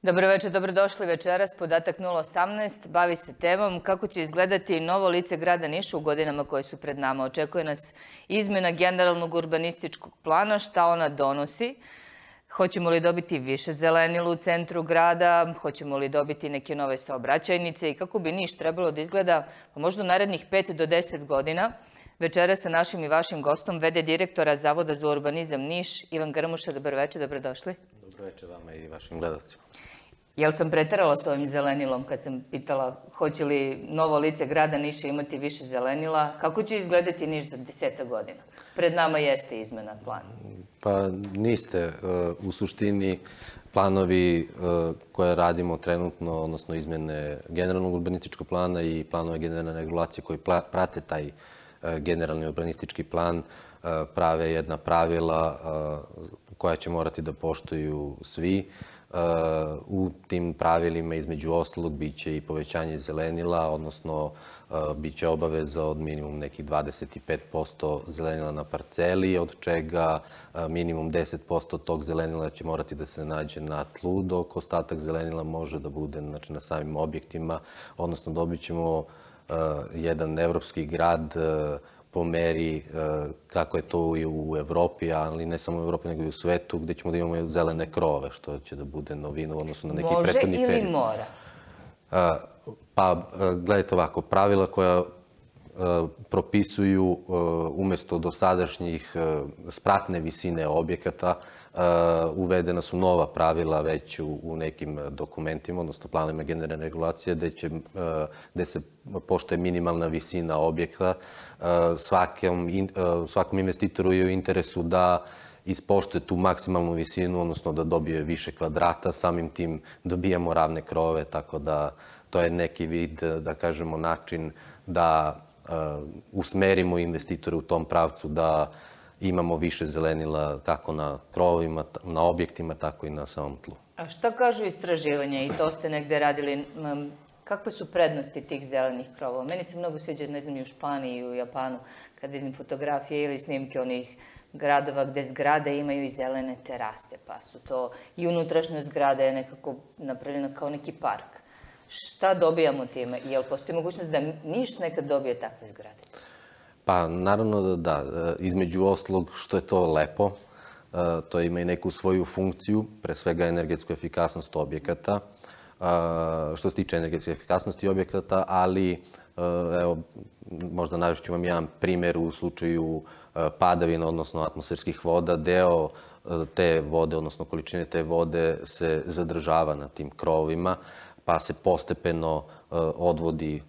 Dobro večer, dobrodošli večeras. Podatak 018 bavi se temom kako će izgledati novo lice grada Niša u godinama koje su pred nama. Očekuje nas izmjena generalnog urbanističkog plana, šta ona donosi. Hoćemo li dobiti više zelenila u centru grada, hoćemo li dobiti neke nove saobraćajnice i kako bi Niš trebalo da izgleda možda u narednih 5 do 10 godina. Večeras sa našim i vašim gostom, v.d. direktora Zavoda za urbanizam Niš, Ivan Grmuša. Dobro večer, dobrodošli. Dobro večer vama i vašim gledalcima. Jel sam preterala s ovim zelenilom kad sam pitala hoće li novo lice grada Niša imati više zelenila? Kako će izgledati Niš za 10 godina? Pred nama jeste izmena plana. Pa niste. U suštini planovi koje radimo trenutno, odnosno izmjene generalnog urbanističkog plana i planove generalne regulacije koji prate taj generalni urbanistički plan, prave jedna pravila koja će morati da poštuju svi. U tim pravilima između ostalog biće i povećanje zelenila, odnosno biće obaveza od minimum nekih 25% zelenila na parceli, od čega minimum 10% tog zelenila će morati da se nađe na tlu, dok ostatak zelenila može da bude na samim objektima, odnosno dobit ćemo jedan evropski grad po meri kako je to i u Evropi, ali ne samo u Evropi, nego i u svetu, gdje ćemo da imamo zelene krove, što će da bude novina u odnosu na neki prethodni period. Može ili mora? Pa, gledajte ovako, pravila koja propisuju umjesto dosadašnjih spratne visine objekata, uvedena su nova pravila već u nekim dokumentima, odnosno planovima generalne regulacije, gde se poštuje minimalna visina objekta. Svakom investitoru je u interesu da ispoštuje tu maksimalnu visinu, odnosno da dobije više kvadrata, samim tim dobijamo ravne krove, tako da to je neki vid, da kažemo, način da usmerimo investitore u tom pravcu da imamo više zelenila kako na krovovima, na objektima, tako i na samom tlu. A šta kažu istraživanja? I to ste negde radili. Kakve su prednosti tih zelenih krovova? Meni se mnogo sviđa, ne znam, i u Španiji i u Japanu, kad vidim fotografije ili snimke onih gradova gde zgrade imaju i zelene terase, pa su to i unutrašnja zgrada je nekako napravljena kao neki park. Šta dobijamo time? Jel postoji mogućnost da Niš nekad dobije takve zgrade? Pa, naravno da. Između ostalog, što je to lepo, to ima i neku svoju funkciju, pre svega energetsku efikasnost objekata, što se tiče energetske efikasnosti objekata, ali, evo, možda navešću vam jedan primjer u slučaju padavina, odnosno atmosferskih voda. Deo te vode, odnosno količine te vode se zadržava na tim krovovima, pa se postepeno odvodi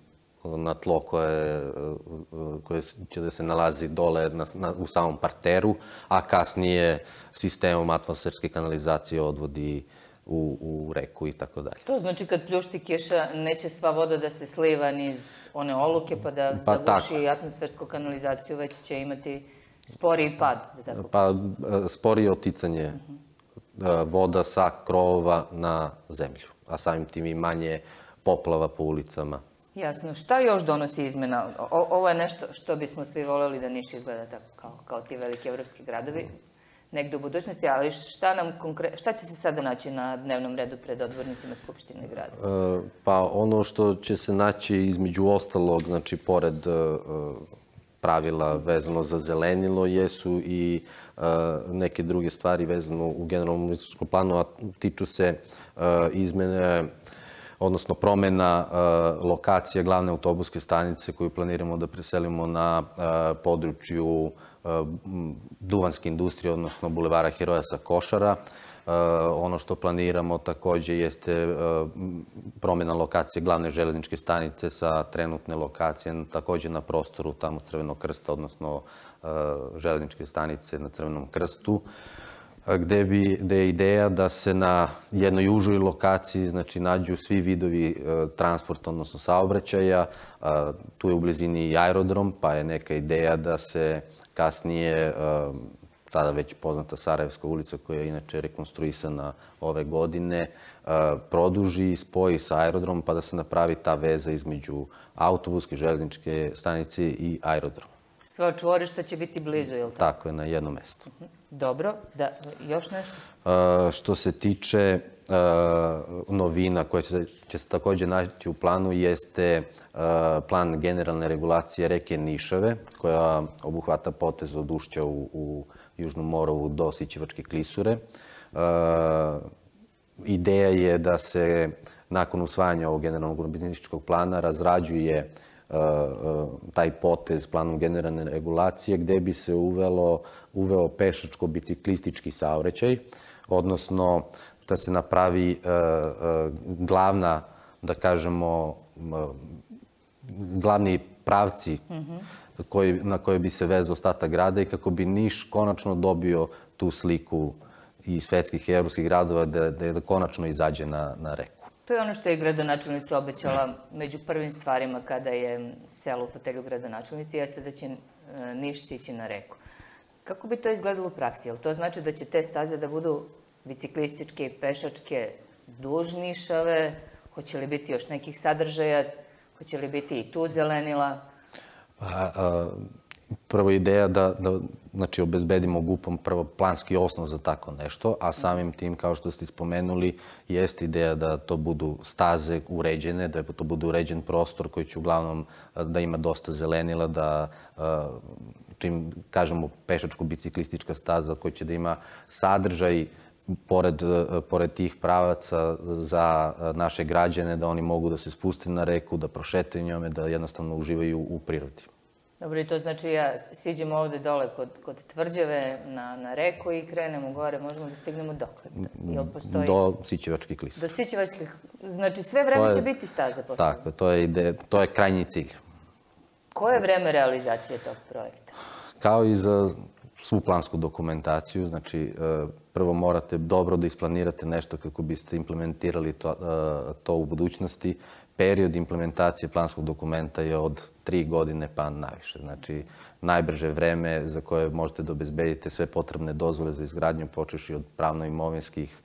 na tlo koje će da se nalazi dole u samom parteru, a kasnije sistemom atmosferske kanalizacije odvodi u reku i tako dalje. To znači kad pljušti kiša neće sva voda da se sliva niz one oluke pa da zaguši atmosfersku kanalizaciju, već će imati sporiji pad. Pa sporije oticanje voda sa krovova na zemlju, a samim tim i manje poplava po ulicama. Jasno. Šta još donosi izmjena? Ovo je nešto što bismo svi voljeli da Niš izgleda tako kao ti veliki evropski gradovi negde u budućnosti, ali šta će se sada naći na dnevnom redu pred odbornicima Skupštine grada? Pa ono što će se naći između ostalog, znači pored pravila vezano za zelenilo, jesu i neke druge stvari vezano u generalnom urbanističkom planu, a tiču se izmene, odnosno promjena lokacije glavne autobuske stanice koju planiramo da preselimo na području duvanske industrije, odnosno bulevara Heroja sa Košara. Ono što planiramo također jeste promjena lokacije glavne železničke stanice sa trenutne lokacije, također na prostoru tamo Crvenog krsta, odnosno železničke stanice na Crvenom krstu, gde je ideja da se na jednoj užoj lokaciji nađu svi vidovi transporta, odnosno saobraćaja. Tu je u blizini i aerodrom, pa je neka ideja da se kasnije, sada već poznata Sarajevska ulica, koja je inače rekonstruisana ove godine, produži i spoji sa aerodromom, pa da se napravi ta veza između autobuske, železničke stanice i aerodroma. Sva čvorišta će biti blizu, je li tako? Tako je, na jednom mestu. Dobro, još nešto? Što se tiče novina koje će se također naći u planu jeste plan generalne regulacije reke Nišave, koja obuhvata potez od ušća u Južnom Morovu do Sićevačke klisure. Ideja je da se nakon usvajanja ovog generalnog urbanističkog plana razrađuje taj potez planom generalne regulacije gde bi se uveo pešačko-biciklistički saobraćaj, odnosno da se napravi glavna, da kažemo, glavni pravci na koje bi se vezao ostatak grada i kako bi Niš konačno dobio tu sliku i svetskih i evropskih gradova da konačno izađe na reku. To je ono što je gradonačelnica obećala među prvim stvarima kada je sela u fotelju gradonačelnici, jeste da će Niš sići na reku. Kako bi to izgledalo u praksi? Jel to znači da će te staze da budu biciklističke i pešačke duž Nišave? Hoće li biti još nekih sadržaja? Hoće li biti i tu zelenila? Prvo ideja da obezbedimo GUP-om prvo planski osnov za tako nešto, a samim tim, kao što ste spomenuli, jeste ideja da to budu staze uređene, da to bude uređen prostor koji će uglavnom da ima dosta zelenila, da čim kažemo pešačko-biciklistička staza koja će da ima sadržaj pored tih pravaca za naše građane, da oni mogu da se spuste na reku, da prošetaju njome, da jednostavno uživaju u prirodi. Dobro, i to znači ja siđemo ovde dole kod Tvrđave na reku i krenemo gore, možemo da stignemo dokle? Do Sićevačke klisure. Do Sićevačke, znači sve vreme će biti staza postavljena? Tako, to je krajnji cilj. Koje je vreme realizacije tog projekta? Kao i za svu plansku dokumentaciju, znači prvo morate dobro da isplanirate nešto kako biste implementirali to u budućnosti. Period implementacije planskog dokumenta je od 3 godine pa naviše. Znači, najbrže vreme za koje možete da obezbedite sve potrebne dozvole za izgradnju, počevši od pravno-imovinskih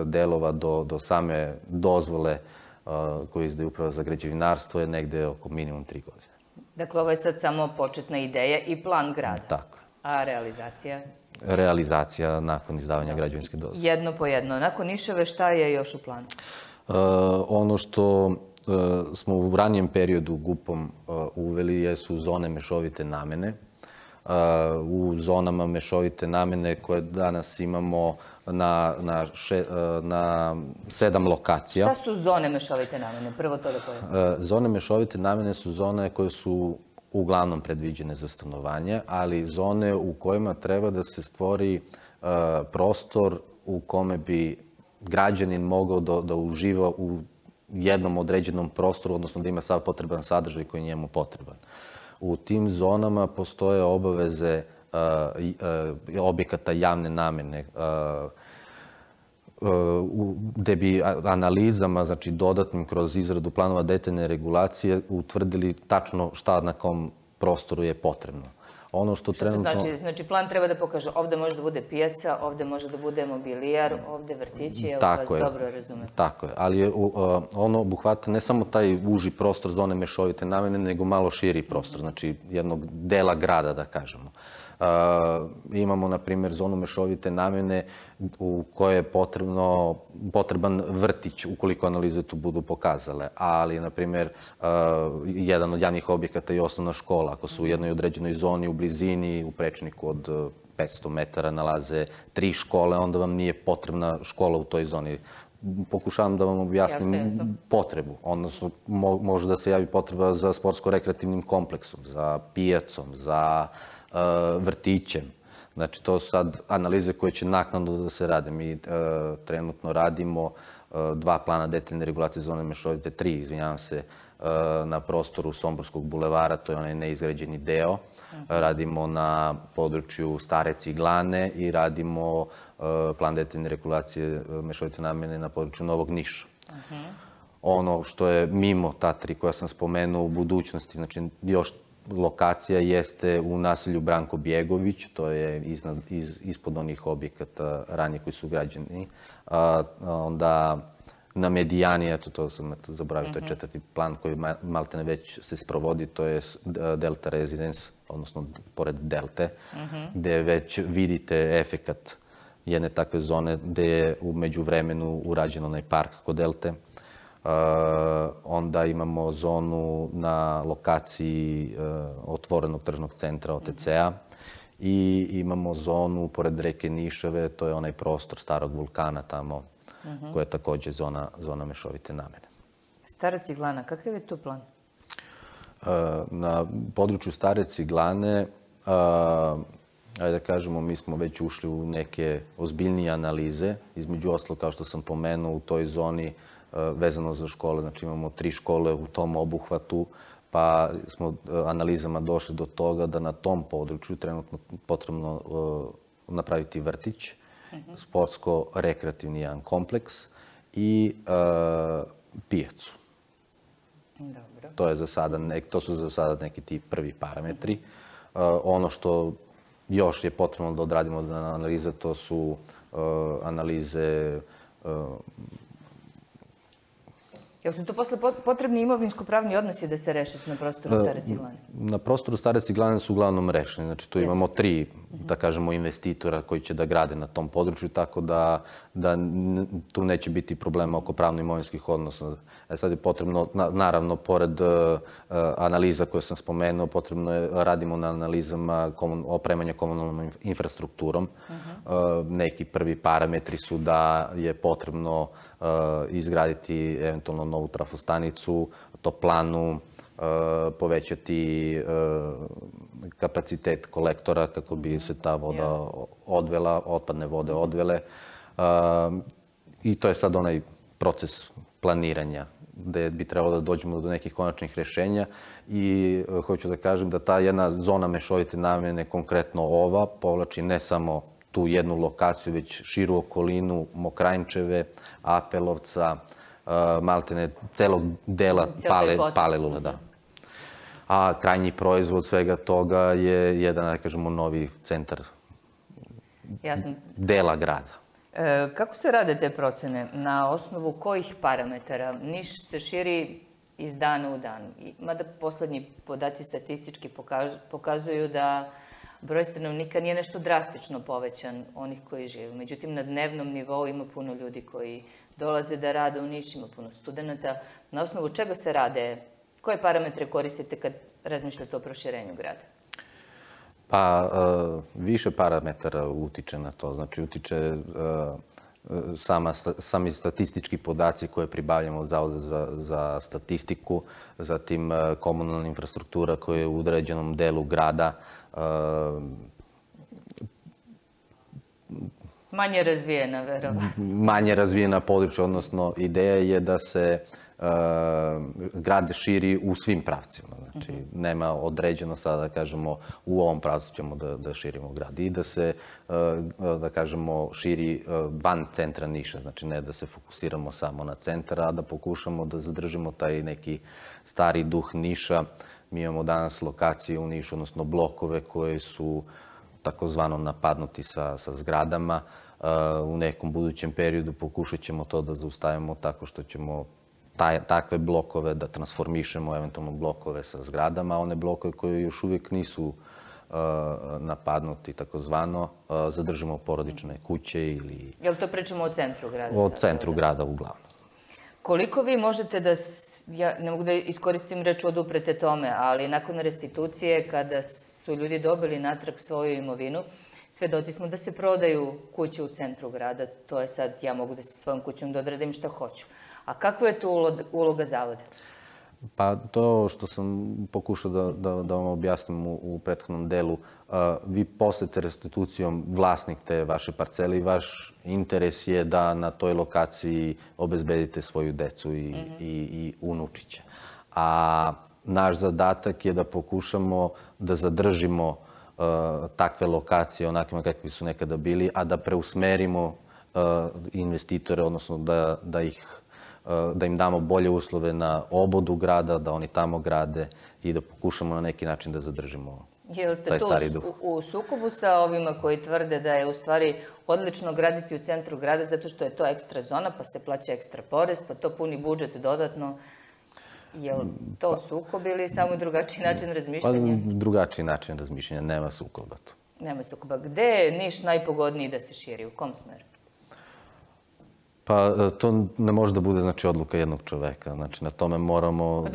delova do same dozvole koju izdaje Uprava za građevinarstvo, je negde oko minimum 3 godine. Dakle, ovo je sad samo početna ideja i plan grada. Tako. A realizacija? Realizacija nakon izdavanja građevinske dozvole. Jedno po jedno. Nakon Nišave, šta je još u planu? Ono što smo u ranijem periodu GUP-om uveli jesu zone mešovite namene. U zonama mešovite namene koje danas imamo na 7 lokacija. Šta su zone mešovite namene? Prvo to da pojasnim. Zone mešovite namene su zone koje su uglavnom predviđene za stanovanje, ali zone u kojima treba da se stvori prostor u kome bi građanin mogao da uživa u jednom određenom prostoru, odnosno da ima sav potreban sadržaj koji je njemu potreban. U tim zonama postoje obaveze objekata javne namene, gde bi analizama, znači dodatnim kroz izradu planova detaljne regulacije, utvrdili tačno šta na kom prostoru je potrebno. Ono što trenutno... Znači, plan treba da pokaže ovde može da bude pijaca, ovde može da bude mobilijar, ovde vrtići, je li vas dobro razumete? Tako je, ali ono obuhvata ne samo taj uži prostor zone mešovite namene, nego malo širi prostor, znači jednog dela grada, da kažemo. Imamo, na primjer, zonu mešovite namene u kojoj je potreban vrtić, ukoliko analize tu budu pokazale. Ali, na primjer, jedan od javnih objekata je osnovna škola. Ako su u jednoj određenoj zoni u blizini, u prečniku od 500 metara nalaze 3 škole, onda vam nije potrebna škola u toj zoni. Pokušavam da vam objasnim potrebu. Odnosno, može da se javi potreba za sportsko-rekreativnim kompleksom, za pijacom, za vrtićem. Znači, to su sad analize koje će naknadno da se rade. Mi trenutno radimo 2 plana detaljne regulacije zone mešovite, 3, izvinjavam se, na prostoru Somborskog bulevara, to je onaj neizgrađeni deo. Radimo na području Stare Ciglane i radimo plan detaljne regulacije mešovite namene na području Novog Niša. Ono što je mimo ta 3 koja sam spomenuo u budućnosti, znači još lokacija jeste u naselju Branko Bjegović, to je ispod onih objekata ranije koji su građeni. Onda na Medijani, eto to sam zaboravio, to je 4. plan koji maltene već se sprovodi, to je Delta Residence, odnosno pored Delte, gde već vidite efekat jedne takve zone gde je u međuvremenu urađen onaj park kod Delte. Onda imamo zonu na lokaciji otvorenog tržnog centra OTC-a i imamo zonu pored reke Nišave, to je onaj prostor starog vulkana tamo, koja je takođe zona mešovite namene. Stara Ciglana, kakav je to plan? Na području Stare Ciglane, ajde da kažemo, mi smo već ušli u neke ozbiljnije analize. Između ostalog, kao što sam pomenuo, u toj zoni vezano za škole, znači imamo 3 škole u tom obuhvatu, pa smo analizama došli do toga da na tom području trenutno potrebno napraviti vrtić, sportsko-rekreativni jedan kompleks i pijacu. To su za sada neki ti prvi parametri. Ono što još je potrebno da odradimo od analize, to su analize. Jel su to posle potrebni imovinsko-pravni odnosi da se reše na prostoru Stare Ciglane? Na prostoru Stare Ciglane su uglavnom rešeni. Znači, tu imamo 3, da kažemo, investitora koji će da grade na tom području, tako da tu neće biti problema oko pravno-imovinskih odnosa. Sad je potrebno, naravno, pored analiza koje sam spomenuo, potrebno je, radimo na analizama opremanja komunalnom infrastrukturom. Neki prvi parametri su da je potrebno izgraditi eventualno novu trafostanicu, toplanu, povećati kapacitet kolektora kako bi se ta voda odvela, otpadne vode odvele. I to je sad onaj proces planiranja gde bi trebalo da dođemo do nekih konačnih rešenja i hoću da kažem da ta jedna zona mešovite namene, konkretno ova, povlači ne samo tu jednu lokaciju, već širu okolinu Mokranjčeve, Apelovca, maltene celog dela Palilule, da. A krajnji proizvod svega toga je jedan, da kažemo, novi centar dela grada. Kako se rade te procene? Na osnovu kojih parametara? Niš se širi iz dana u dan. Mada poslednji podaci statistički pokazuju da broj stanovnika nije nešto drastično povećan onih koji žive. Međutim, na dnevnom nivou ima puno ljudi koji dolaze da rade u Niš, ima puno studenta. Na osnovu čega se rade? Koje parametre koristite kad razmišljate o proširenju grada? Pa, više parametara utiče na to. Znači, utiče sami statistički podaci koje pribavljamo od Zavoda za statistiku, zatim komunalna infrastruktura koja je u određenom delu grada. Manje razvijena, verovatno. Manje razvijena područja, odnosno ideja je da se grad širi u svim pravcima. Znači, nema određeno sada da kažemo u ovom pravcu ćemo da širimo grad i da se, da kažemo, širi van centra Niša. Znači, ne da se fokusiramo samo na centar, a da pokušamo da zadržimo taj neki stari duh Niša. Mi imamo danas lokacije u Nišu, odnosno blokove koje su takozvano napadnuti sa zgradama. U nekom budućem periodu pokušat ćemo to da zaustavimo tako što ćemo takve blokove da transformišemo, eventualno blokove sa zgradama, a one blokove koje još uvijek nisu napadnuti, takozvano, zadržimo porodične kuće ili... Jel to pričamo o centru grada? O centru grada, uglavnom. Koliko vi možete da, ja ne mogu da iskoristim reč oduprete tome, ali nakon restitucije, kada su ljudi dobili natrag svoju imovinu, svedoci smo da se prodaju kuće u centru grada. To je sad, ja mogu da se svojom kućom da odradim šta hoću. A kakva je tu uloga Zavoda? Pa to što sam pokušao da vam objasnim u prethodnom delu, vi postajete restitucijom vlasnik te vaše parcele i vaš interes je da na toj lokaciji obezbedite svoju decu i unučiće. A naš zadatak je da pokušamo da zadržimo takve lokacije onakvima kakvi su nekada bili, a da preusmerimo investitore, odnosno da im damo bolje uslove na obodu grada, da oni tamo grade i da pokušamo na neki način da zadržimo Jeste tu u sukobu sa ovima koji tvrde da je u stvari odlično graditi u centru grada zato što je to ekstra zona, pa se plaća ekstra porez, pa to puni budžet dodatno? Je li to sukob ili samo drugačiji način razmišljanja? Pa drugačiji način razmišljanja, nema sukoba tu. Nema sukoba. Gde je Niš najpogodniji da se širi? U kom smeru? Pa to ne može da bude odluka jednog čoveka. Znači, na tome moramo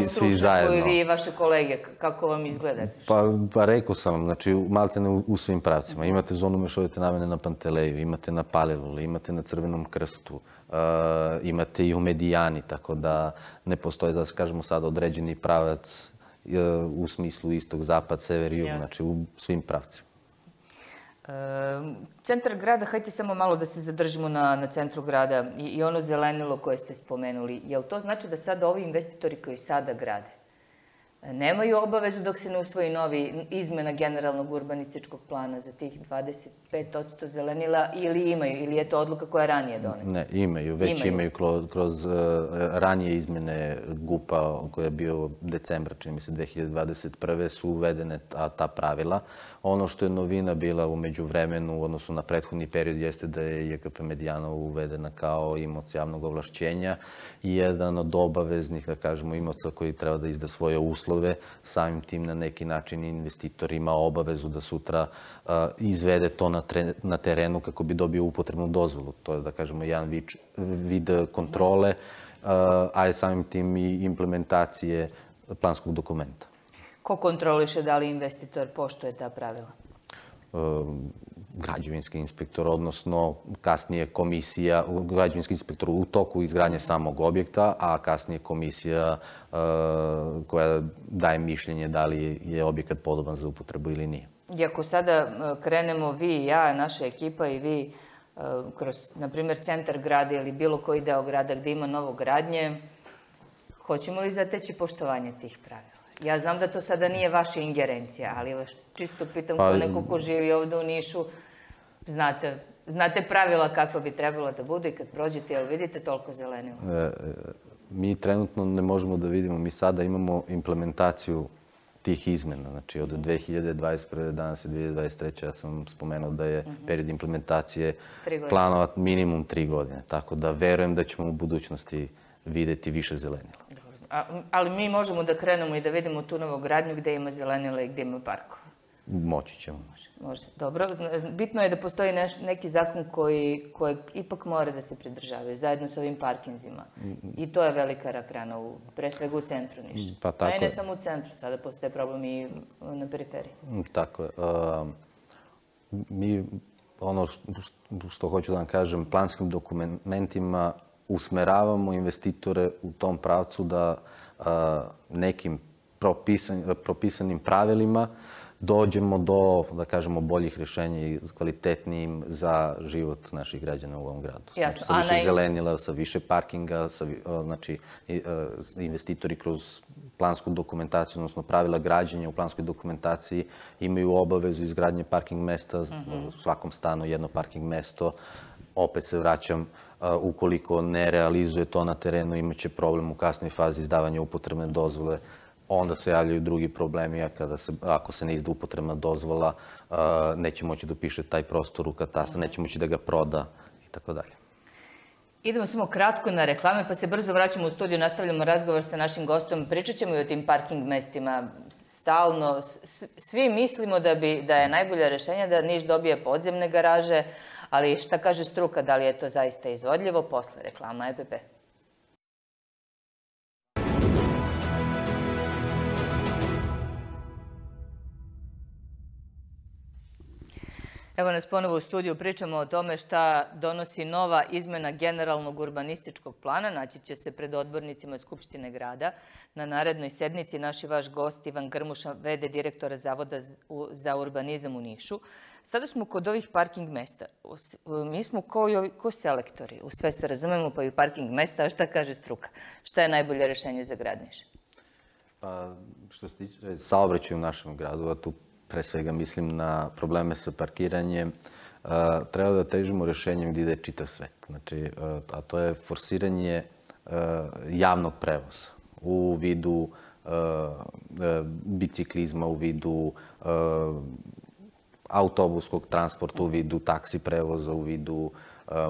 svi zajedno. Koji vi i vaše kolege, kako vam izgleda? Pa rekao sam vam, znači, maltene u svim pravcima. Imate zonu mešovite namene na Panteleju, imate na Paliluli, imate na Crvenom krstu, imate i u Medijani, tako da ne postoji, da kažemo sad, određeni pravac u smislu istog, zapad, sever i jug, znači u svim pravcima. Centar grada, hajde samo malo da se zadržimo na centru grada i ono zelenilo koje ste spomenuli. Je li to znači da sada ovi investitori koji sada grade nemaju obavezu dok se ne usvoji novi izmena generalnog urbanističkog plana za tih 25% zelenila ili imaju, ili je to odluka koja je ranije doneta? Ne, imaju. Već imaju kroz ranije izmene GUP-a koja je bio decembra, čini mi se 2021. su uvedene ta pravila. Ono što je novina bila u međuvremenu u odnosu na prethodni period jeste da je JKP Medijana uvedena kao imaoc javnog ovlašćenja i jedan od obaveznih, da kažemo, imaoca koji treba da izda svoje uslove, samim tim na neki način investitor ima obavezu da sutra izvede to na terenu kako bi dobio upotrebnu dozvolu. To je, da kažemo, jedan vid kontrole, a je samim tim i implementacije planskog dokumenta. Ko kontroliše da li investitor poštuje ta pravila? Građevinski inspektor, odnosno kasnije komisija, građevinski inspektor u toku izgradnje samog objekta, a kasnije komisija koja daje mišljenje da li je objekat podoban za upotrebu ili nije. I ako sada krenemo vi i ja, naša ekipa i vi kroz, na primjer, centar grada ili bilo koji deo grada gde ima novogradnje, hoćemo li zateći poštovanje tih pravila? Ja znam da to sada nije vaša ingerencija, ali vas čisto pitam kao neko ko živi ovde u Nišu, znate pravila kako bi trebalo da budu i kad prođete, jel vidite toliko zelenila? Mi trenutno ne možemo da vidimo, mi sada imamo implementaciju tih izmena, znači od 2021. danas je 2023. Ja sam spomenuo da je period implementacije planova minimum 3 godine, tako da verujem da ćemo u budućnosti videti više zelenila. Ali mi možemo da krenemo i da vidimo tu novogradnju gde ima zelenila i gde ima parkova. Moći ćemo. Može. Dobro. Bitno je da postoji neki zakon kojeg ipak mora da se pridržavaju, zajedno sa ovim parkinzima. I to je velika rak rana, pre svega u centru Niša. A i ne samo u centru, sada postoje problem i na periferiji. Tako je. Mi, ono što hoću da vam kažem, planskim dokumentima usmeravamo investitore u tom pravcu da nekim propisanim pravilima dođemo do, da kažemo, boljih rješenja i kvalitetnijim za život naših građana u ovom gradu. Znači, sa više zelenila, sa više parkinga, znači, investitori kroz plansku dokumentaciju, odnosno pravila građenja u planskoj dokumentaciji imaju obavezu izgradnje parking mesta, u svakom stanu jedno parking mesto. Opet se vraćam, ukoliko ne realizuje to na terenu, imaće problem u kasnoj fazi izdavanja upotrebne dozvole, onda se javljaju drugi problemi, a ako se ne izda upotrebna dozvola, neće moći da upiše taj prostor u katastar, neće moći da ga proda i tako dalje. Idemo samo kratko na reklame, pa se brzo vraćamo u studiju, nastavljamo razgovor sa našim gostom. Pričat ćemo i o tim parking mestima stalno. Svi mislimo da je najbolje rešenje da Niš dobije podzemne garaže, ali šta kaže struka, da li je to zaista izvodljivo? Posle reklama EPP. Evo nas ponovo u studiju, pričamo o tome šta donosi nova izmena generalnog urbanističkog plana. Naći će se pred odbornicima Skupštine grada. Na narednoj sednici naš i vaš gost Ivan Grmuša, v.d. direktora Zavoda za urbanizam u Nišu. Sada smo kod ovih parking mesta. Mi smo ko selektori. U sve se razumemo, pa i parking mesta. A šta kaže struka? Šta je najbolje rešenje za grad Niš? Pa, što se tiče saobraćaja u našem gradu, a tu pre svega mislim na probleme sa parkiranjem, treba da težimo rešenjem gdje ide čitav svet. Znači, a to je forsiranje javnog prevoza u vidu biciklizma, u vidu autobuskog transporta, u vidu taksi prevoza, u vidu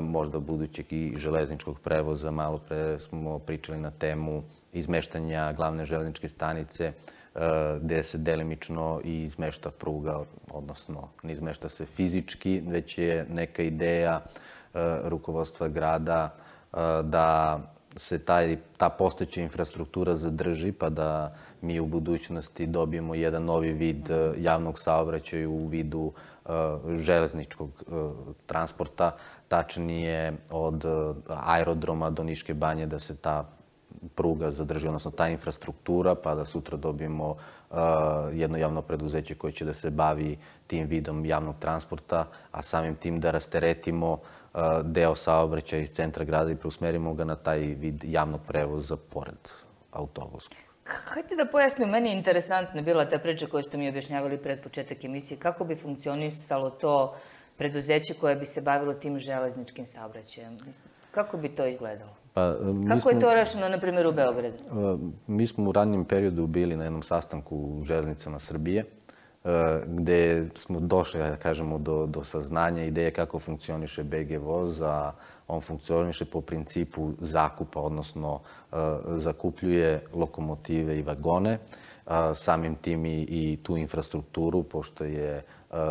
možda budućeg i železničkog prevoza. Malo pre smo pričali na temu izmeštanja glavne železničke stanice, gde se delimično i izmešta pruga, odnosno ne izmešta se fizički, već je neka ideja rukovodstva grada da se ta postojeća infrastruktura zadrži, pa da mi u budućnosti dobijemo jedan novi vid javnog saobraćaja u vidu železničkog transporta, tačnije od aerodroma do Niške banje, da se ta pruga zadrži, odnosno ta infrastruktura, pa da sutra dobijemo jedno javno preduzeće koje će da se bavi tim vidom javnog transporta, a samim tim da rasteretimo deo saobraćaja iz centra grada i preusmerimo ga na taj vid javnog prevoza pored autobuskog. Hajde da pojasnim, meni je interesantna bila ta priča koju ste mi objašnjavali pred početak emisije. Kako bi funkcionisalo to preduzeće koje bi se bavilo tim železničkim saobraćajem? Kako bi to izgledalo? Kako je to rešeno, na primjer, u Beogradu? Mi smo u ranijim periodu bili na jednom sastanku u Železnicama Srbije, gde smo došli, da kažemo, do saznanja ideje kako funkcioniše BG voz, a on funkcioniše po principu zakupa, odnosno zakupljuje lokomotive i vagone, samim tim i tu infrastrukturu, pošto je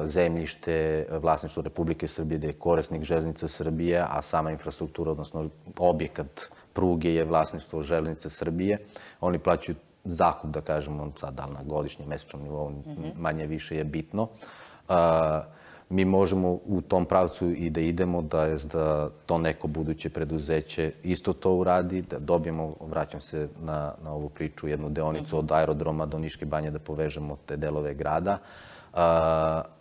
zemljište vlasništvo Republike Srbije, gde je korisnik Železnica Srbije, a sama infrastruktura, odnosno objekat pruge je vlasništvo Železnice Srbije. Oni plaćaju zakup, da kažemo, sad da li na godišnjem, mesečnom nivou, manje više je bitno. Mi možemo u tom pravcu i da idemo, da to neko buduće preduzeće isto to uradi, da dobijemo, vraćam se na ovu priču, jednu deonicu od aerodroma do Niške banje, da povežemo te delove grada,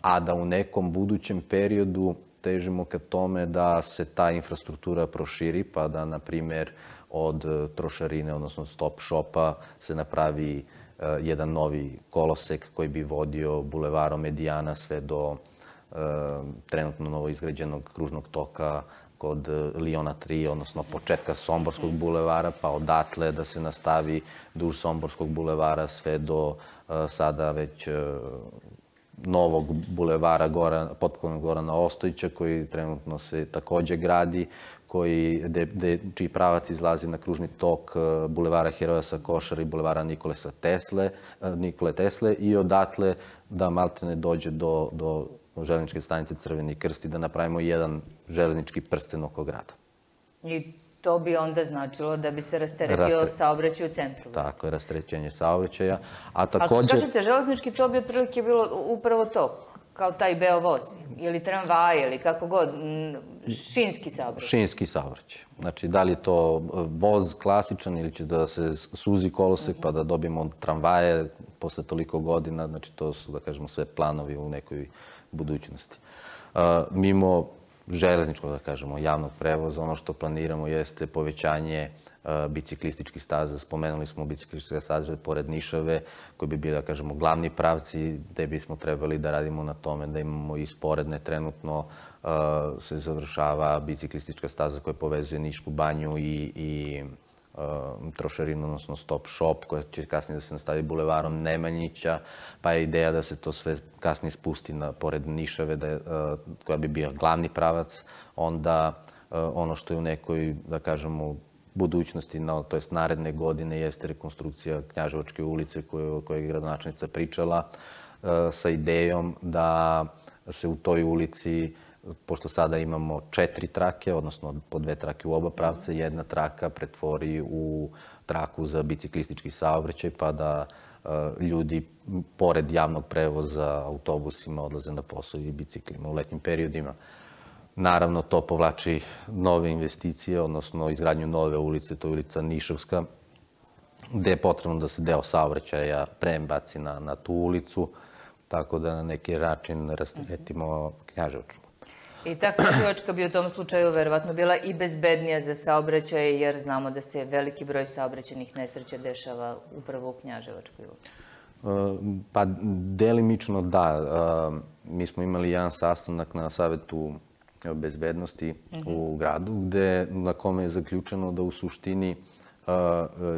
a da u nekom budućem periodu težimo ka tome da se ta infrastruktura proširi, pa da, na primer, od trošarine, odnosno stop shopa, se napravi jedan novi kolosek koji bi vodio bulevarom Medijana sve do trenutno novoizgrađenog kružnog toka kod Liona 3, odnosno početka Somborskog bulevara, pa odatle da se nastavi duž Somborskog bulevara sve do sada već novog bulevara potpunog Gorana Ostojića, koji trenutno se takođe gradi, čiji pravac izlazi na kružni tok bulevara Heroja sa Košara i bulevara Nikole Tesle i odatle da maltene dođe do železničke stanice Crveni krst i da napravimo jedan železnički prsten oko grada. I to bi onda značilo da bi se rasteretio saobraćaj u centru. Tako je, rasterećenje saobraćaja. A kad kažete železnički, to bi otprilike bilo upravo to, kao taj Beovoz, ili tramvaj, ili kako god, šinski saobraćaj. Šinski saobraćaj. Znači, da li je to voz klasičan ili će da se suzi kolosek pa da dobijemo tramvaje posle toliko godina, znači to su, da kažemo, sve planovi u nekoj budućnosti. Mimo železničkog, da kažemo, javnog prevoza, ono što planiramo jeste povećanje biciklističkih staza. Spomenuli smo biciklističke staze pored Nišave, koji bi bili, da kažemo, glavni pravci, gde bismo trebali da radimo na tome da imamo i sporedne. Trenutno se završava biciklistička staza koja povezuje Nišku banju i trošarinu, odnosno stop shop, koja će kasnije da se nastavi bulevarom Nemanjića, pa je ideja da se to sve kasnije spusti pored Nišave, koja bi bio glavni pravac. Onda ono što je u nekoj, da kažemo, budućnosti, to jest naredne godine, jeste rekonstrukcija Knjaževačke ulice o kojoj je gradonačelnica pričala, sa idejom da se u toj ulici, pošto sada imamo 4 trake, odnosno po 2 trake u oba pravca, jedna traka pretvori u traku za biciklistički saobraćaj, pa da ljudi, pored javnog prevoza autobusima, odlaze na posao i biciklima u letnjim periodima. Naravno, to povlači nove investicije, odnosno izgradnju nove ulice, to je ulica Nišavska, gde je potrebno da se deo saobraćaja prebaci na tu ulicu, tako da na neki način rasteretimo Knjaževačku. I ta Knjaževačka bi u tom slučaju verovatno bila i bezbednija za saobraćaj, jer znamo da se veliki broj saobraćajnih nesreća dešava upravo u Knjaževačkoj ulici. Pa, delimično da. Mi smo imali jedan sastanak na Savetu bezbednosti u gradu, na kome je zaključeno da u suštini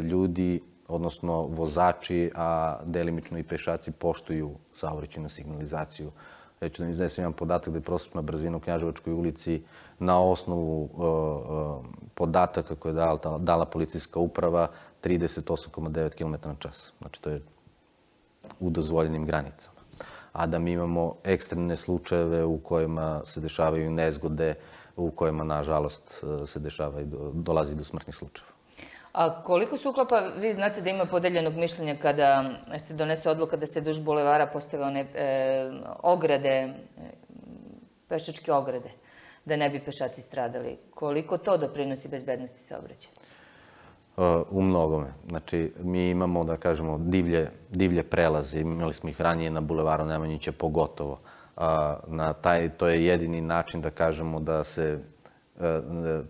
ljudi odnosno vozači, a delimično i pešaci poštuju saobraćajnu signalizaciju. Ja ću da iznesem jedan podatak da je prosječna brzina u Knjaževačkoj ulici na osnovu podataka koje je dala policijska uprava 38,9 km na čas. Znači, to je u dozvoljenim granicama. A da mi imamo ekstremne slučajeve u kojima se dešavaju nezgode, u kojima, nažalost, se dolazi do smrtnih slučajeva. A koliko se uklapa, vi znate da ima podeljenog mišljenja kada se donese odluka da se duž bulevara postave one ograde, pešačke ograde, da ne bi pešaci stradali. Koliko to doprinosi bezbednosti saobraćaja? U mnogome. Znači, mi imamo, da kažemo, divlje prelaze. Imali smo ih ranije na bulevaru Nemanjića pogotovo. To je jedini način, da kažemo, da se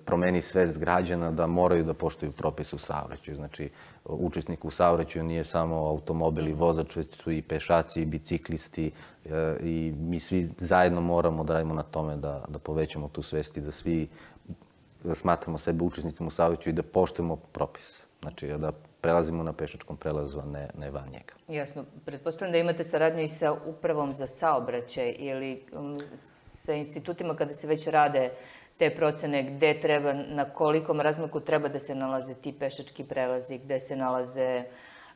promeni svest građana da moraju da poštuju propise u saobraćaju. Znači, učesnik u saobraćaju nije samo automobil i vozač, već su i pešaci i biciklisti i mi svi zajedno moramo da radimo na tome da povećamo tu svest i da svi smatramo sebe učesnicima u saobraćaju i da poštujemo propise. Znači, da prelazimo na pešačkom prelazu, a ne van njega. Jasno. Pretpostavljam da imate saradnju i sa upravom za saobraćaj ili sa institutima kada se već rade te procene gde treba, na kolikom razmaku treba da se nalaze ti pešački prelazi,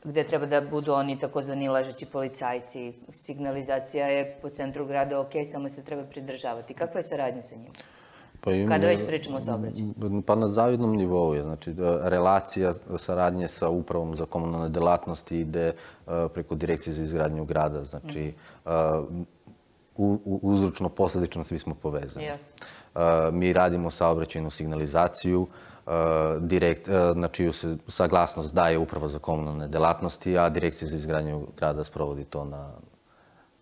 gde treba da budu oni takozvani ležeći policajci. Signalizacija je po centru grada ok, samo se treba pridržavati. Kakva je saradnja sa njima? Kada već pričamo o saobraćaju? Pa na zavidnom nivou je. Znači, relacija saradnje sa upravom za komunalne delatnosti ide preko Direkcije za izgradnju grada. Znači, uzročno-posledično svi smo povezani. Mi radimo saobraćajnu signalizaciju, na čiju se saglasnost daje Uprava za komunalne delatnosti, a Direkcija za izgradnju grada sprovodi to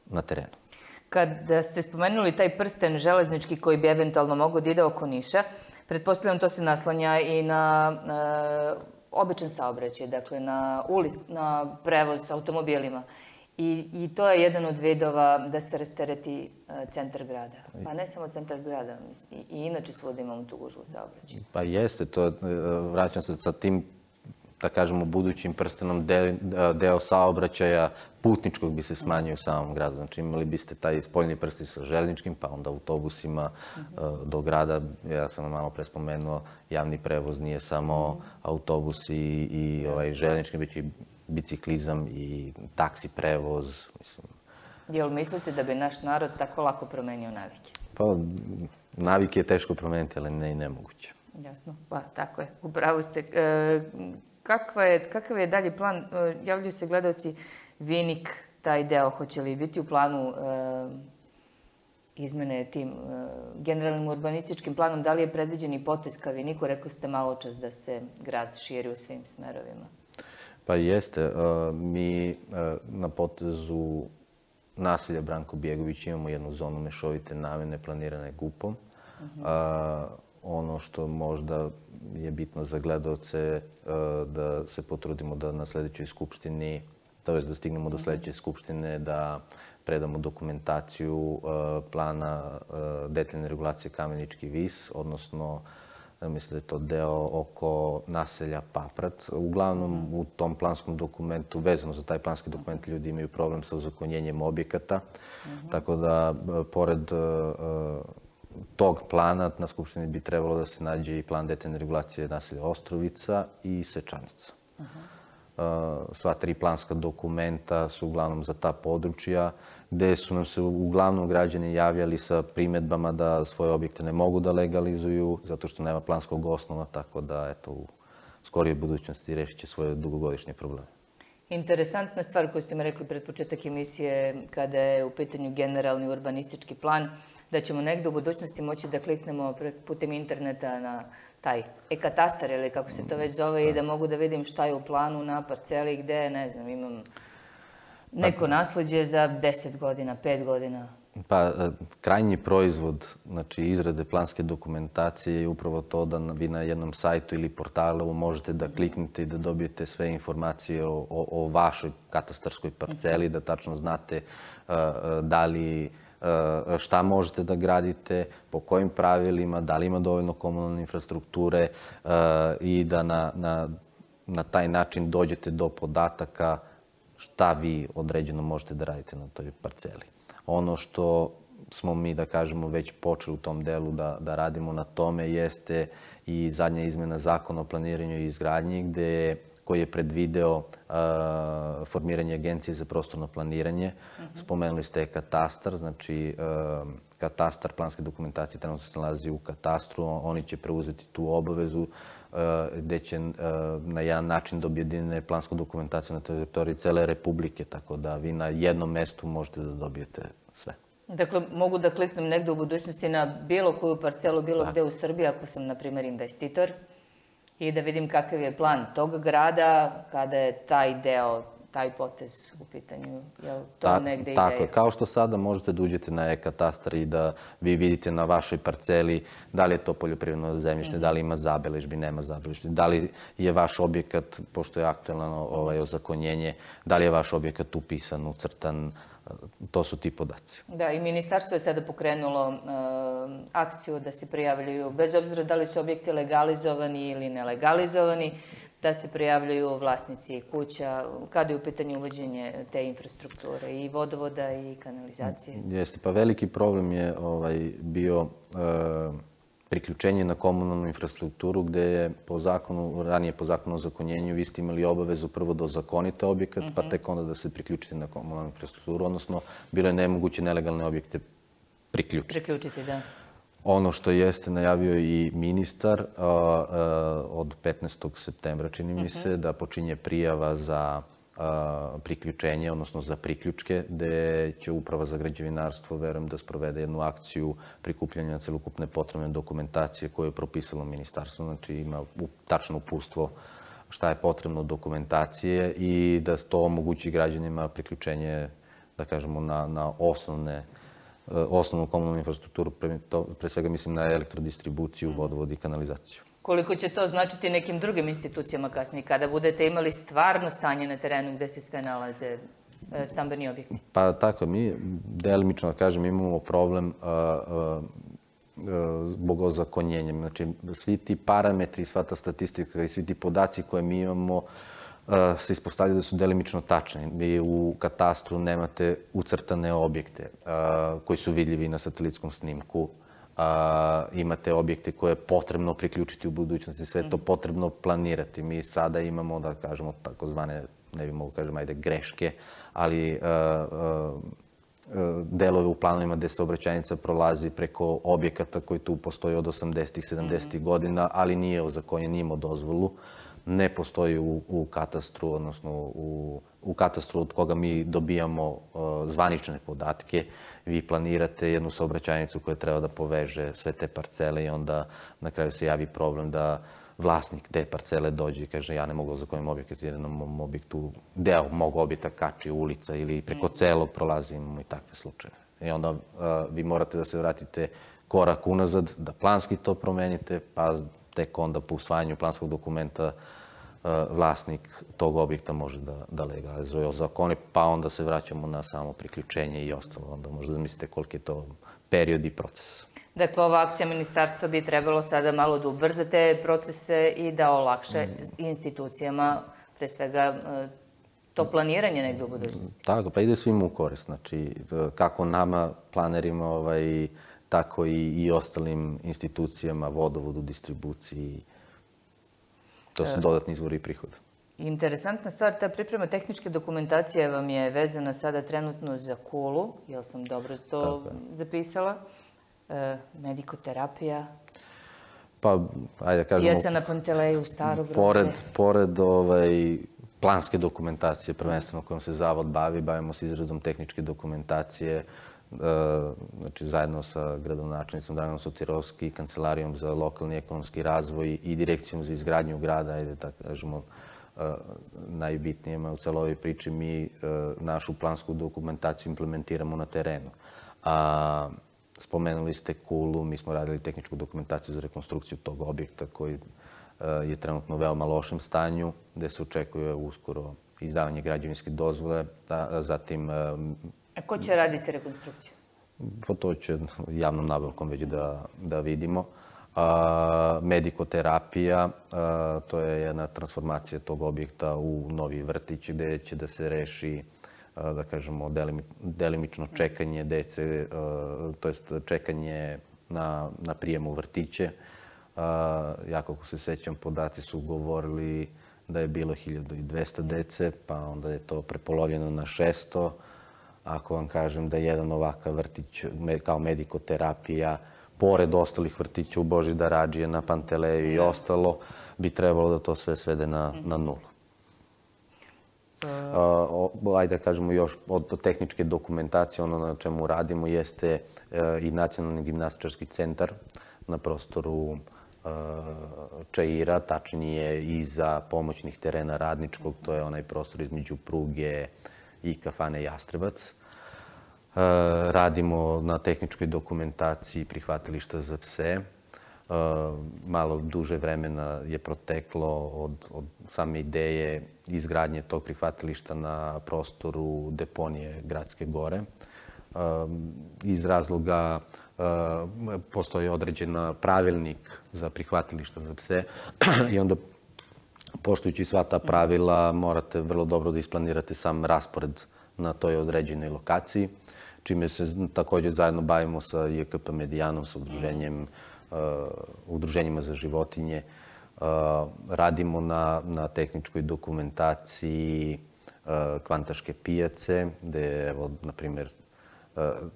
na terenu. Kada ste spomenuli taj prsten železnički koji bi eventualno mogao da ide oko Niša, pretpostavljam to se naslanja i na običan saobraćaj, dakle na prevoz automobilima. I to je jedan od vidova da se rastereti centar grada. Pa ne samo centar grada, i inače svuda imamo tu gužvu u saobraćaju. Pa jeste, vraćam se sa tim, da kažemo, budućim prstenom deo saobraćaja putničkog bi se smanjio u samom gradu. Znači, imali biste taj spoljni prsten sa železničkim, pa onda autobusima do grada. Ja sam malo pre spomenuo, javni prevoz nije samo autobus i železnički, već i biciklizam i taksi prevoz. Jel mislite da bi naš narod tako lako promenio navike? Pa, navike je teško promeniti, ali ne i nemoguće. Jasno, pa tako je, upravo ste. Kakav je dalji plan? Javljaju se gledalci Vinik, taj deo, hoće li biti u planu izmene tim generalnim urbanističkim planom? Da li je predviđen i potez ka Viniku? Rekli ste malo čas da se grad širi u svim smerovima. Pa jeste. Mi na potezu naselja Branko Bjegović imamo jednu zonu mešovite namene planirane GUP-om. Ono što možda je bitno za gledalce da se potrudimo da na sledećoj skupštini, to je da stignemo do sledeće skupštine, da predamo dokumentaciju plana detaljne regulacije Kamenički vis, odnosno mislim da je to deo oko naselja Paprat. Uglavnom, u tom planskom dokumentu, vezano za taj planski dokument, ljudi imaju problem sa ozakonjenjem objekata. Tako da, pored tog plana, na Skupštini bi trebalo da se nađe i plan detaljne regulacije naselja Ostrovica i Sečanica. Sva tri planska dokumenta su uglavnom za ta područja, gde su nam se uglavnom građani javljali sa primedbama da svoje objekte ne mogu da legalizuju, zato što nema planskog osnova, tako da, eto, u skorijoj budućnosti rešit će svoje dugogodišnje probleme. Interesantna stvar koju ste mi rekli pred početak emisije, kada je u pitanju generalni urbanistički plan, da ćemo negde u budućnosti moći da kliknemo putem interneta na taj e-katastar ili kako se to već zove i da mogu da vidim šta je u planu na parceli gde, ne znam, imam neko nasleđe za 10 godina, 5 godina. Pa, krajnji proizvod, znači izrade planske dokumentacije je upravo to da vi na jednom sajtu ili portalu možete da kliknete i da dobijete sve informacije o vašoj katastarskoj parceli, da tačno znate da li šta možete da gradite, po kojim pravilima, da li ima dovoljno komunalne infrastrukture i da na taj način dođete do podataka šta vi određeno možete da radite na toj parceli. Ono što smo mi, da kažemo, već počeli u tom delu da radimo na tome jeste i zadnja izmena zakona o planiranju i izgradnji koji je predvideo formiranje agencije za prostorno planiranje. Spomenuli ste katastar, znači katastar planske dokumentacije trenutno se nalazi u katastru, oni će preuzeti tu obavezu gde će na jedan način da objedine plansku dokumentaciju na teritoriji cele Republike, tako da vi na jednom mestu možete da dobijete sve. Dakle, mogu da kliknem negde u budućnosti na bilo koju parcelu, bilo gde u Srbiji, ako sam, na primjer, investitor, i da vidim kakav je plan tog grada kada je taj deo, taj potez u pitanju. Je li to negde ideja? Tako je. Kao što sada možete da uđete na e-katastar i da vi vidite na vašoj parceli da li je to poljoprivredno zemljište, da li ima zabeležbi, nema zabeležbi, da li je vaš objekat, pošto je aktuelno ozakonjenje, da li je vaš objekat upisan, ucrtan, to su ti podaci. Da, i ministarstvo je sada pokrenulo akciju da se prijavljuju, bez obzira da li su objekti legalizovani ili nelegalizovani, da se prijavljuju vlasnici kuća, kada je u pitanju uvođenje te infrastrukture i vodovoda i kanalizacije. Jeste, pa veliki problem je bio priključenje na komunalnu infrastrukturu gde je ranije po zakonu o ozakonjenju vi ste imali obavezu prvo da ozakonite objekat, pa tek onda da se priključite na komunalnu infrastrukturu, odnosno bilo je nemoguće nelegalne objekte priključiti. Priključiti, da. Ono što jeste najavio i ministar od 15. septembra, čini mi se, da počinje prijava za priključenje, odnosno za priključke, gde će Uprava za građevinarstvo, verujem, da sprovede jednu akciju prikupljanja celokupne potrebne dokumentacije koju je propisalo ministarstvo. Znači ima tačno uputstvo šta je potrebno dokumentacije i da to omogući građanima priključenje, da kažemo, na osnovnu komunalnu infrastrukturu, pre svega mislim na elektrodistribuciju, vodovod i kanalizaciju. Koliko će to značiti nekim drugim institucijama kasnije, kada budete imali stvarno stanje na terenu gde se sve nalaze stambeni objekti? Pa tako, mi delimično, da kažem, imamo problem zbog ozakonjenja. Znači, svi ti parametri, sva ta statistika i svi ti podaci koje mi imamo se ispostavljaju da su delimično tačni. Vi u katastru nemate ucrtane objekte koji su vidljivi na satelitskom snimku. Imate objekte koje je potrebno priključiti u budućnosti, sve je to potrebno planirati. Mi sada imamo, da kažemo, takozvane, ne bi mogu kažem, ajde, greške, ali delove u planovima gde saobraćajnica prolazi preko objekata koji tu postoji od 80-ih, 70-ih godina, ali nije ozakonjen, nije imao dozvolu. Ne postoji u katastru, odnosno u katastru od koga mi dobijamo zvanične podatke. Vi planirate jednu saobraćajnicu koja treba da poveže sve te parcele i onda na kraju se javi problem da vlasnik te parcele dođe i kaže ja ne mogu ozakoniti objekat jer na mom objektu deo mog objekta kači ulica ili preko celog prolazimo i takve slučaje. I onda vi morate da se vratite korak unazad, da planski to promenite, pa tek onda po usvajanju planskog dokumenta vlasnik tog objekta može da legalizuje ozakoni, pa onda se vraćamo na samo priključenje i ostalo. Onda možda zamislite koliki je to period i proces. Dakle, ova akcija ministarstva bi trebalo sada malo da ubrza te procese i da olakše institucijama, pre svega, to planiranje negde u budućnosti. Tako, pa ide svima u korist. Znači, kako nama, planerima, tako i ostalim institucijama, vodovodu, distribuciji. To su dodatni izvori prihoda. Interesantna stvar, ta priprema tehničke dokumentacije vam je vezana sada trenutno za Kulu, jel sam dobro to zapisala? Medikoterapija, pa, ajde da kažemo, djeca na Panteleju, Starograde. Pored planske dokumentacije, prvenstveno kojom se Zavod bavi, bavimo se izradom tehničke dokumentacije, znači zajedno sa gradonačelnicom Draganom Sotirovski, Kancelarijom za lokalni ekonomski razvoj i Direkcijom za izgradnju grada, ajde da kažemo najbitnijima u celoj ovoj priči, mi našu plansku dokumentaciju implementiramo na terenu. Spomenuli ste Kulu, mi smo radili tehničku dokumentaciju za rekonstrukciju tog objekta koji je trenutno u veoma lošem stanju, gde se očekuje uskoro izdavanje građevinske dozvole, zatim... A ko će raditi rekonstrukciju? Pa to će javnom nabavkom već da vidimo. Medikoterapija, to je jedna transformacija tog objekta u novi vrtić gde će da se reši, da kažemo, delimično čekanje dece, to jest čekanje na prijem u vrtiće. Ja, kako se sećam, podaci su govorili da je bilo 1200 dece, pa onda je to prepolovljeno na 600. Ako vam kažem da je jedan ovakav vrtić kao medikoterapija, pored ostalih vrtića u Božidar Hadžije, na Panteleju i ostalo, bi trebalo da to sve svede na nulu. Ajde da kažemo još od tehničke dokumentacije, ono na čemu radimo jeste i Nacionalni gimnastičarski centar na prostoru Čaira, tačnije iza pomoćnih terena Radničkog, to je onaj prostor između pruge i kafane Jastrebac. Radimo na tehničkoj dokumentaciji prihvatilišta za pse. Malo duže vremena je proteklo od same ideje izgradnje tog prihvatilišta na prostoru deponije Gradske gore. Iz razloga postoji određen pravilnik za prihvatilišta za pse i onda, poštujući sva ta pravila, morate vrlo dobro da isplanirate sam raspored na toj određenoj lokaciji, čime se takođe zajedno bavimo sa JKP Medijanom, sa udruženjima za životinje. Radimo na tehničkoj dokumentaciji Kvantaške pijace, gde, evo, na primjer,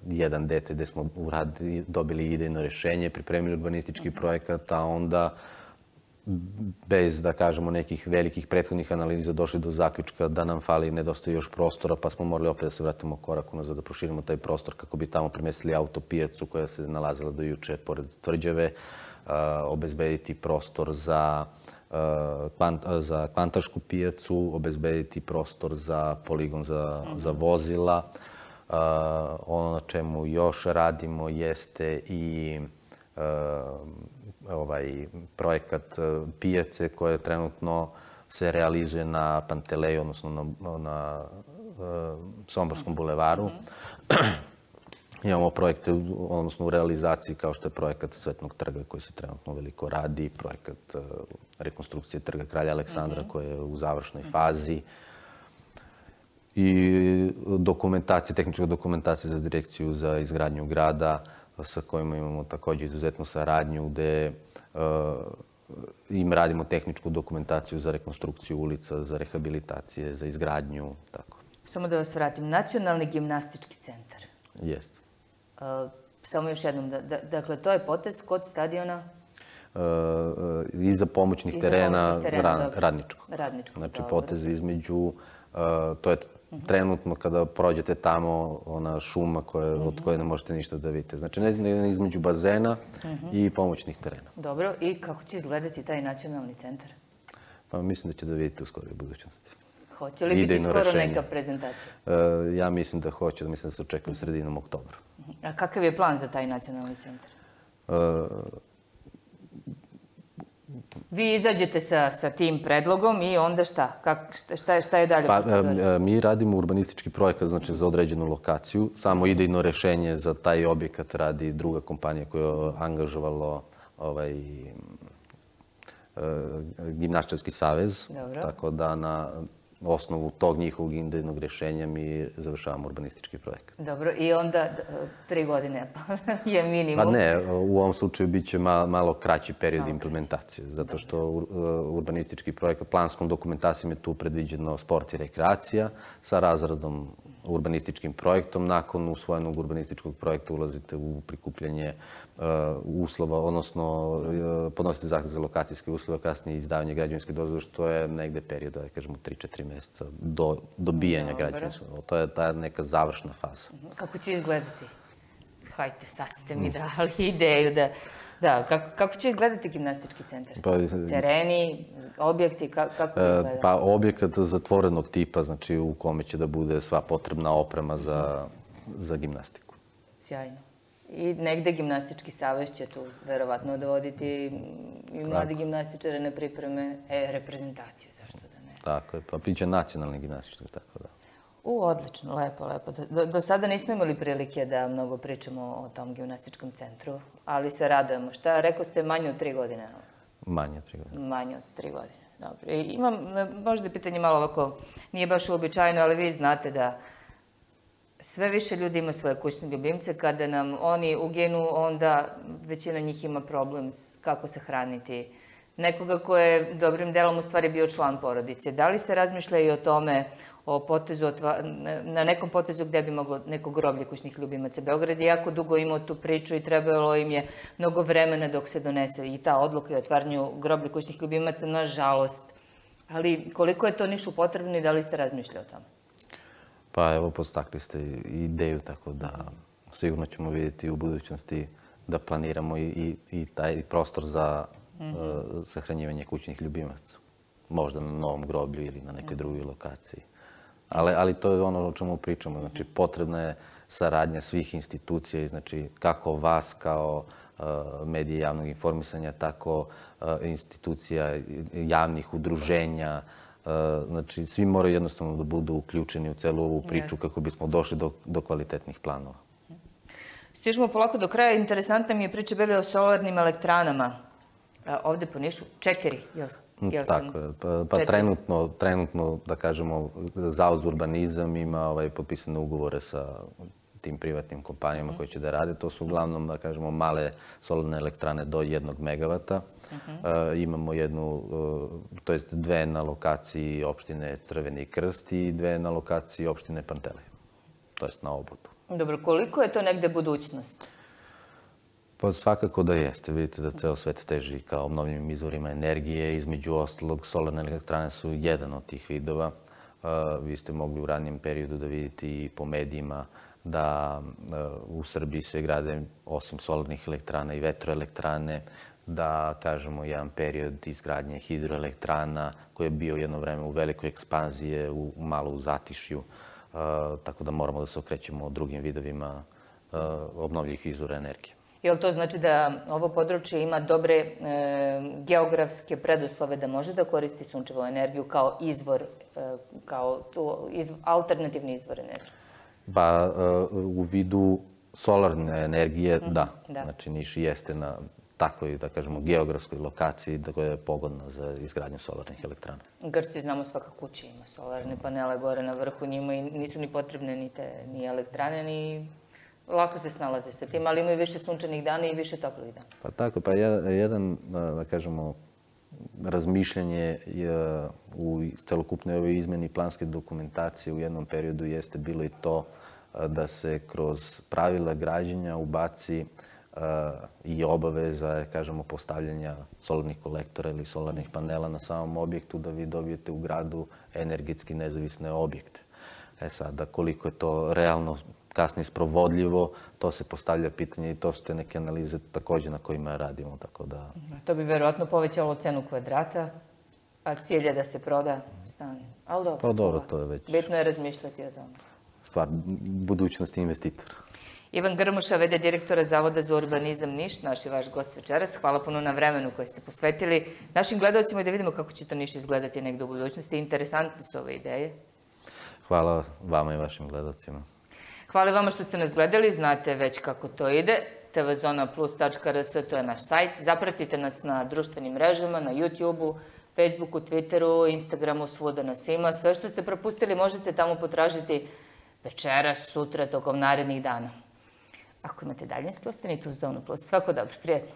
jedan dete gde smo dobili idejno rešenje, pripremili urbanistički projekat, a onda bez, da kažemo, nekih velikih prethodnih analiza došli do zaključka da nam fali, nedostaje još prostora, pa smo morali opet da se vratimo korak unazad, da proširimo taj prostor kako bi tamo premestili autopijacu koja se nalazila do juče pored tvrđave, obezbediti prostor za Kvantašku pijacu, obezbediti prostor za poligon za vozila. Ono na čemu još radimo jeste i projekat pijace koje trenutno se realizuje na Panteleju, odnosno na Somborskom bulevaru. Imamo projekte, odnosno u realizaciji, kao što je projekat Cvetnog trga koji se trenutno veliko radi, projekat rekonstrukcije trga Kralja Aleksandra koji je u završnoj fazi i tehnička dokumentacija za direkciju za izgradnju grada, sa kojima imamo takođe izuzetnu saradnju, gde im radimo tehničku dokumentaciju za rekonstrukciju ulica, za rehabilitacije, za izgradnju, tako. Samo da vas vratim, Nacionalni gimnastički centar. Jeste. Samo još jednom, dakle, to je potez kod stadiona? Iza pomoćnih terena Radničkog. Znači, potez između, to je trenutno kada prođete tamo, ona šuma od koje ne možete ništa da vidite. Znači, ne između bazena i pomoćnih terena. Dobro, i kako će izgledati taj nacionalni centar? Pa mislim da će da vidite u skoroj budućnosti. Hoće li biti skoro neka prezentacija? Ja mislim da hoće, da mislim da se očekuje sredinom oktobra. A kakav je plan za taj nacionalni centar? Vi izađete sa tim predlogom i onda šta? Šta je dalje procedura? Mi radimo urbanistički projekat, znači, za određenu lokaciju. Samo idejno rešenje za taj objekat radi druga kompanija koja je angažovalo Gimnastičarski savez. Tako da na osnovu tog njihovog idejnog rešenja mi završavamo urbanistički projekat. Dobro, i onda 3 godine je minimum. Pa ne, u ovom slučaju biće malo kraći period implementacije, zato što urbanistički projekat, planskom dokumentacijom je tu predviđeno sport i rekreacija, sa razradom urbanističkim projektom. Nakon usvojenog urbanističkog projekta ulazite u prikupljanje uslova, odnosno podnosite zahtev za lokacijske uslove, kasnije izdavanje građevinske dozvole, što je negde period, da kažemo, 3-4 meseca do dobijanja građevinske dozvole. To je ta neka završna faza. Kako će izgledati? Hajde, sad ste mi dali ideju da... Kako će izgledati gimnastički centar? Tereni, objekti, kako izgleda? Pa objekat zatvorenog tipa, znači u kome će da bude sva potrebna oprema za gimnastiku. Sjajno. I negde gimnastički savez će tu verovatno dovoditi i mladi gimnastičare na pripreme reprezentacije, zašto da ne? Tako je, pa biće nacionalni gimnastički, tako da. Odlično, lepo, lepo. Do sada nismo imali prilike da mnogo pričamo o tom gimnastičkom centru, ali se radujemo. Šta, rekao ste, manje od 3 godine? Manje od 3 godine. Manje od 3 godine, dobro. Imam možda pitanje malo ovako, nije baš uobičajeno, ali vi znate da sve više ljudi ima svoje kućne ljubimce. Kada nam oni uginu, onda većina njih ima problem kako se hraniti. Nekoga ko je dobrim delom u stvari bio član porodice. Da li se razmišlja i o tome, o potezu, na nekom potezu gde bi moglo neko groblje kućnih ljubimaca? Beograd je jako dugo imao tu priču i trebalo im je mnogo vremena dok se donese i ta odluka i otvaranju groblja kućnih ljubimaca, nažalost. Ali koliko je to Nišu potrebno i da li ste razmišljali o tome? Pa evo, podstakli ste ideju, tako da sigurno ćemo vidjeti u budućnosti da planiramo i taj prostor za sahranjivanje kućnih ljubimaca. Možda na novom groblju ili na nekoj drugoj lokaciji. Ali to je ono o čemu pričamo. Znači, potrebna je saradnja svih institucija, znači kako vas kao medije javnog informisanja, tako institucija javnih udruženja. Znači, svi moraju jednostavno da budu uključeni u celu ovu priču kako bismo došli do kvalitetnih planova. Stižemo polako do kraja. Interesantna mi je priča bila o solarnim elektranama. Ovde po Nišu 4, jel sam? Tako je. Pa trenutno, da kažemo, Zavod za urbanizam ima potpisane ugovore sa tim privatnim kompanijama koji će da rade. To su uglavnom, da kažemo, male solarne elektrane do 1 megavata. Imamo to jest 2 na lokaciji opštine Crveni Krst i 2 na lokaciji opštine Pantelej. To jest na Obotu. Dobro, koliko je to negde budućnost? Pa svakako da jeste. Vidite da ceo svet teži ka obnovljivim izvorima energije. Između ostalog, solarne elektrane su jedan od tih vidova. Vi ste mogli u ranijem periodu da vidite i po medijima da u Srbiji se grade osim solarnih elektrana i vetroelektrane, da kažemo jedan period izgradnje hidroelektrana koji je bio jedno vreme u velikoj ekspanziji, malo u zatišju, tako da moramo da se okrećemo drugim vidovima obnovljivih izvora energije. Jel to znači da ovo područje ima dobre geografske preduslove da može da koristi sunčevu energiju kao izvor, kao alternativni izvor energije? Pa u vidu solarne energije, da. Znači Niš jeste na takvoj, da kažemo, geografskoj lokaciji koja je pogodna za izgradnju solarnih elektrana. Grci, znamo, svaka kuća ima solarne panele gore na vrhu, njima nisu ni potrebne ni elektrane, ni lako se snalaze sa tim, ali imaju više sunčanih dana i više toplih dana. Pa tako, pa jedan, da kažemo, razmišljanje u celokupnoj ovoj izmeni planske dokumentacije u jednom periodu jeste bilo i to da se kroz pravila građenja ubaci i obaveza, kažemo, postavljanja solarnih kolektora ili solarnih panela na samom objektu da vi dobijete u gradu energetski nezavisne objekte. Sada, koliko je to realno kasnije sprovodljivo, to se postavlja pitanje i to su te neke analize takođe na kojima radimo, tako da... To bi verovatno povećalo cenu kvadrata, a cilj je da se proda stan. Ali dobro. Pa dobro, to je već... Bitno je razmišljati o tome. Stvar budućnosti investitora. Ivan Grmuša, v.d. direktora Zavoda za urbanizam Niš, naš i vaš gost večeras. Hvala puno na vremenu koje ste posvetili našim gledalcima i da vidimo kako će to Niš izgledati negde u budućnosti. Interesantne su ove ideje. Hvala vama i vašim gledalcima. Hvala vama što ste nas gledali, znate već kako to ide. tvzonaplus.rs, to je naš sajt. Zapratite nas na društvenim mrežama, na YouTube-u, Facebooku, Twitteru, Instagramu, svuda nas ima. Sve što ste propustili možete tamo potražiti večeras, sutra, tokom narednih dana. Ako imate daljinski, ostanite uz Zonu Plus. Svako dobro, prijatno.